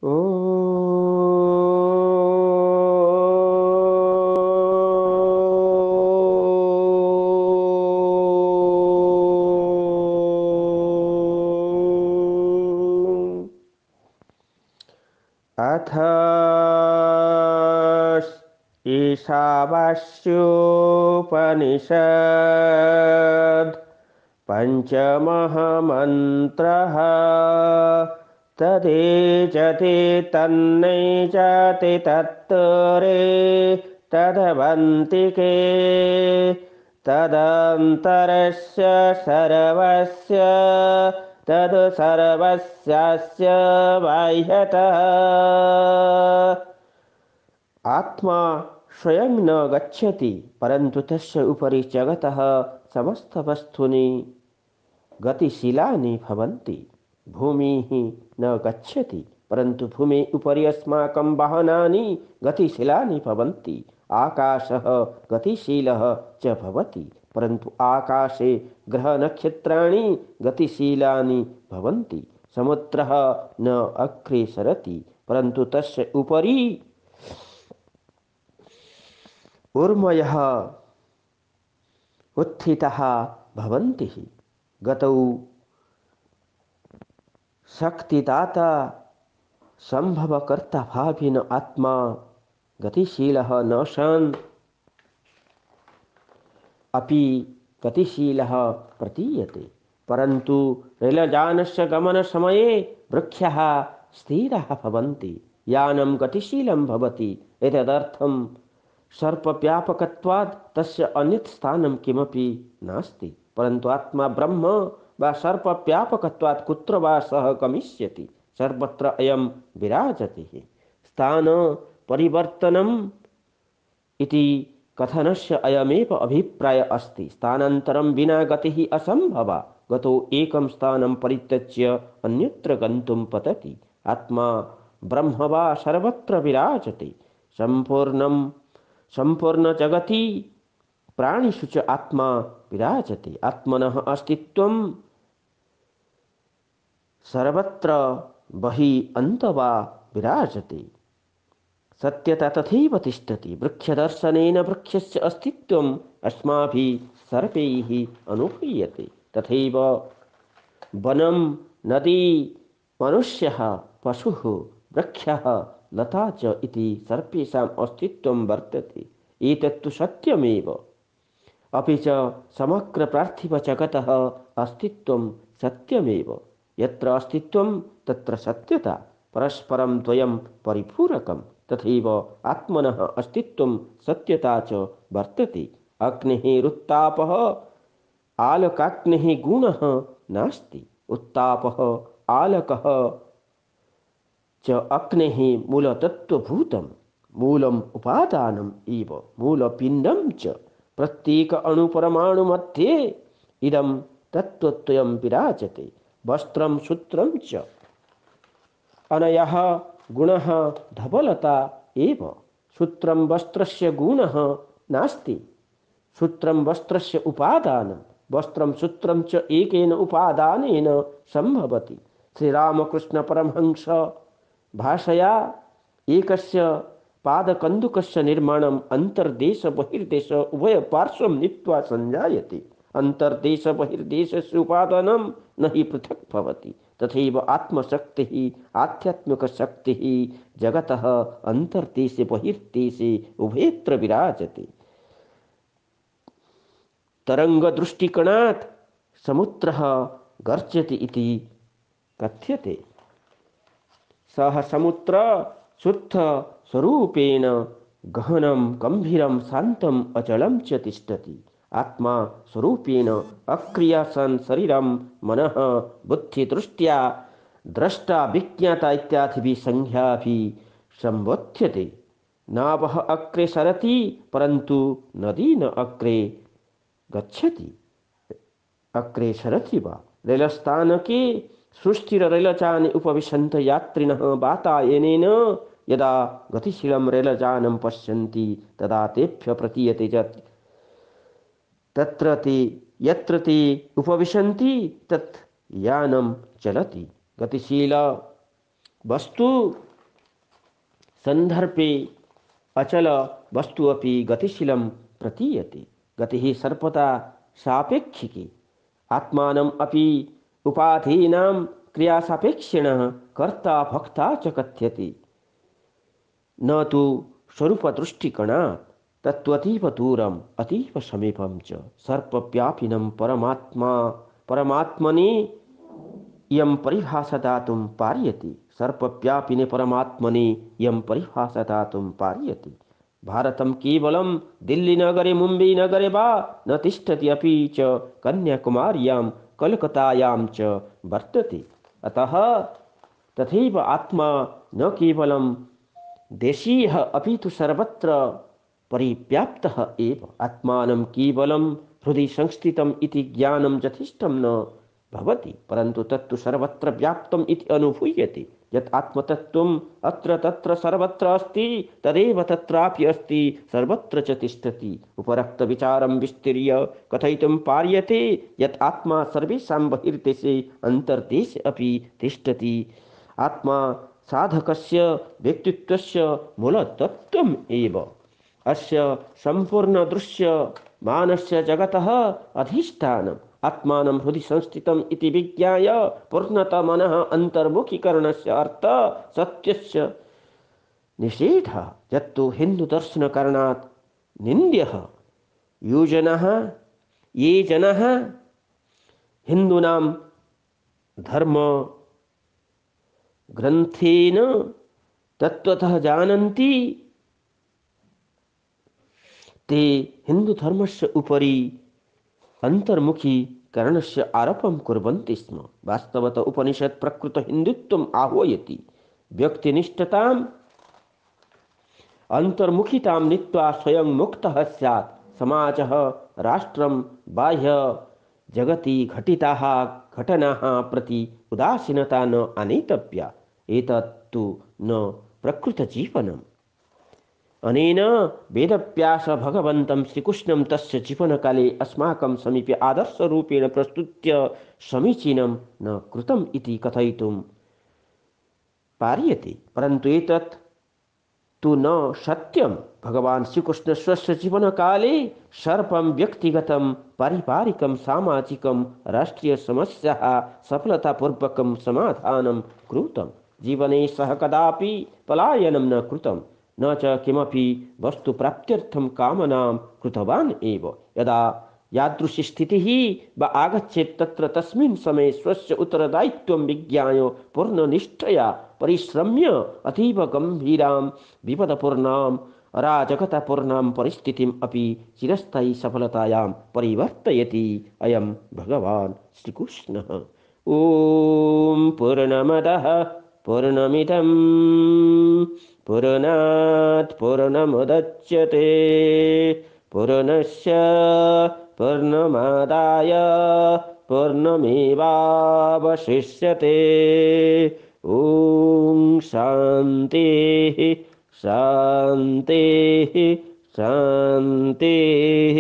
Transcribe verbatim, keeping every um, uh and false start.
अथ ईशावास्योपनिषद् पञ्चमः मन्त्रः। तदेजति तन्नेजति तत्तरे तदवन्तिके तदन्तरस्य सर्वस्य तद् सर्वस्यास्य बाह्यतः। आत्मा स्वयं न गच्छति परन्तु तस्य उपरि जगतः समस्तवस्तूनि गतिशीलानि भवन्ति। भूमिः न गच्छति परन्तु भूमेः उपरि अस्माकं वाहनानि गतिशीलानि भवन्ति। आकाशः गतिशीलः च भवति परन्तु आकाशे ग्रहनक्षत्राणि गतिशीलानि भवन्ति। समुद्रः न अग्रे सरति परन्तु तस्य उपरि ऊर्मयः उत्थिताः भवन्ति। गतौ शक्तिदाता संभवकर्ता भाविन आत्मा गतिशीलः न सन् अपि गतिशीलः प्रतीयते परन्तु रेलयानस्य गमनसमये वृक्षाः स्थिराः भवन्ति। यानं गतिशीलं भवति एतदर्थं सर्वव्यापकत्वात् तस्य अन्यत् स्थानं किमपि नास्ति परन्तु आत्मा ब्रह्म वा सर्वव्यापकत्वात् कुत्र वा सः गमिष्यति सर्वत्र अयं विराजति। स्थान परिवर्तनम् इति कथनस्य अयमेव अभिप्रायः अस्ति। स्थानान्तरं विना गतिः असम्भवा। गतो एकं स्थानं परित्यज्य अन्यत्र गन्तुं पतति। आत्मा ब्रह्म वा सर्वत्र विराजते। सम्पूर्णं सम्पूर्णजगति प्राणिषु च आत्मा विराजते। आत्मनः अस्तित्वं सर्वत्र बहिः अन्तः वा विराजते। सत्यता तथैव तिष्ठति। वृक्षदर्शनेन वृक्षस्य अस्तित्वम् अस्माभिः सर्वैः अनुभूयते। तथैव वनं नदी मनुष्यः पशुः वृक्षः लता च इति सर्वेषाम् अस्तित्वं वर्तते। एतत्तु सत्यमेव। अपि च समग्र पार्थिवजगतः अस्तित्वं सत्यमेव। यत्र अस्तित्वं तत्र सत्यता परस्परं द्वयं परिपूरकं। तथैव आत्मनः अस्तित्वं सत्यता च वर्तते। अग्निः रुत्तापः आलकाग्निः गुणः नास्ति। उत्तापः आलकः च अग्नेः मूलतत्त्वभूतं मूलम् उपादानम् एव मूलपिण्डं च। प्रत्येक अणुपरमाणुमध्ये इदं तत्त्वद्वयं विराजते। वस्त्रं सूत्रं च अनयः गुणः धवलता एव। सूत्रं वस्त्रस्य गुणः नास्ति। सूत्रं वस्त्रस्य उपादानं। वस्त्रं सूत्रं च एकेन उपादानेन सम्भवति। श्रीरामकृष्णपरमहंस भाषया एकस्य पादकन्दुकस्य निर्माणम् अन्तर्देश बहिर्देश उभयपार्श्वं नीत्वा सञ्जायते। अन्तर्देश बहिर्देशस्य उपादानं न हि पृथक् भवति। तथैव आत्मशक्तिः आध्यात्मिकशक्तिः जगतः अन्तर्देशे बहिर्देशे उभयत्र विराजते। तरङ्गदृष्टिकोणात् समुद्रः गर्जति इति कथ्यते। सः समुद्रः शुद्धस्वरूपेण गहनं गम्भीरं शान्तम् अचलं च तिष्ठति। आत्मा स्वरूपेण अक्रियासन् शरीरं मनः बुद्धिदृष्ट्या द्रष्टा विज्ञाता इत्यादिभिः संज्ञाभिः सम्बोध्यते। नावः अग्रे सरति परन्तु नदी न अग्रे गच्छति। अग्रे सरति वा। रेलस्थानके सुस्थिररेलयाने उपविशन्तः यात्रिणः वातायनेन यदा गतिशीलं रेलयानं पश्यन्ति तदा तेभ्यः प्रतीयते यत् तत्र ते यत्र ते उपविशन्ति तत् यानं चलति। गतिशील वस्तु सन्दर्भे अचल वस्तु अपि गतिशीलं प्रतीयते। गतिः सर्वदा सापेक्षिकी। आत्मानम् अपि उपाधीनां क्रियासापेक्षिणः कर्ता भोक्ता च कथ्यते, न तु स्वरूपदृष्टिकोणात्। तत्त्वतीव दूरम् अतीव समीपं च सर्वव्यापिनं परमात्मा परमात्मनि इयं परिभाषा दातुं पार्यते। सर्वव्यापिने परमात्मनि इयं परिभाषा दातुं पार्यते। भारतं केवलं दिल्लीनगरे मुम्बईनगरे वा न तिष्ठति, अपि च कन्याकुमार्यां कलकत्तायां च वर्तते। अतः तथैव आत्मा न केवलं देशीयः अपि तु सर्वत्र परिव्याप्तः एव। आत्मानं केवलं हृदि संस्थितम् इति ज्ञानं यथेष्टं न भवति, परन्तु तत्तु सर्वत्र व्याप्तम् इति अनुभूयते। यत् आत्मतत्त्वम् अत्र तत्र सर्वत्र अस्ति, तदेव तत्रापि अस्ति, सर्वत्र च तिष्ठति। उपरोक्तविचारं विस्तृय कथयितुं पार्यते यत् आत्मा सर्वेषां बहिर्देशे अन्तर्देशे अपि तिष्ठति। आत्मा साधकस्य व्यक्तित्वस्य मूलतत्त्वम् एव। अस्य सम्पूर्णदृश्यमानस्य जगतः अधिष्ठानम् आत्मानं हृदि संस्थितम् इति विज्ञाय पूर्णतः मनः अन्तर्मुखीकरणस्य अर्थः सत्यस्य निषेधः, यत्तु हिन्दुदर्शनकारणात् निन्द्यः। ये जनाः ये जनाः हिन्दूनां धर्म ग्रन्थेन तत्त्वतः जानन्ति, ते हिन्दुधर्मस्य उपरि अन्तर्मुखीकरणस्य आरोपं कुर्वन्ति स्म। वास्तवतः उपनिषत् प्रकृतहिन्दुत्वम् आह्वयति। व्यक्तिनिष्ठताम् अन्तर्मुखितां नीत्वा स्वयं मुक्तः स्यात्। समाजः राष्ट्रं बाह्य जगति घटिताः घटनाः प्रति उदासीनता न आनेतव्या। एतत्तु न प्रकृतजीवनम्। अनेन वेदव्यास भगवन्तं श्रीकृष्णं तस्य जीवनकाले अस्माकं समीपे आदर्शरूपेण प्रस्तुत्य समीचीनं न कृतम् इति कथयितुं पार्यते, परन्तु एतत् तु न सत्यं। भगवान् श्रीकृष्ण स्वस्य जीवनकाले सर्वं व्यक्तिगतं पारिवारिकं सामाजिकं राष्ट्रीयसमस्याः सफलतापूर्वकं समाधानं कृतं। जीवने सः कदापि पलायनं न कृतं, न च किमपि वस्तुप्राप्त्यर्थं कामनां कृतवान् एव। यदा यादृशी स्थितिः वा आगच्छेत् तत्र तस्मिन् समये स्वस्य उत्तरदायित्वं विज्ञाय पूर्णनिष्ठया परिश्रम्य अतीव गम्भीरां विपदपूर्णाम् अराजकतापूर्णां परिस्थितिम् अपि चिरस्थायी सफलतायां परिवर्तयति अयं भगवान् श्रीकृष्णः। ॐ पूर्णमदः पूर्णमिदं पूर्णात् पूर्णमुदच्यते पूर्णस्य पूर्णमादाय पूर्णमेवावशिष्यते। ॐ शान्तिः शान्तिः शान्तिः।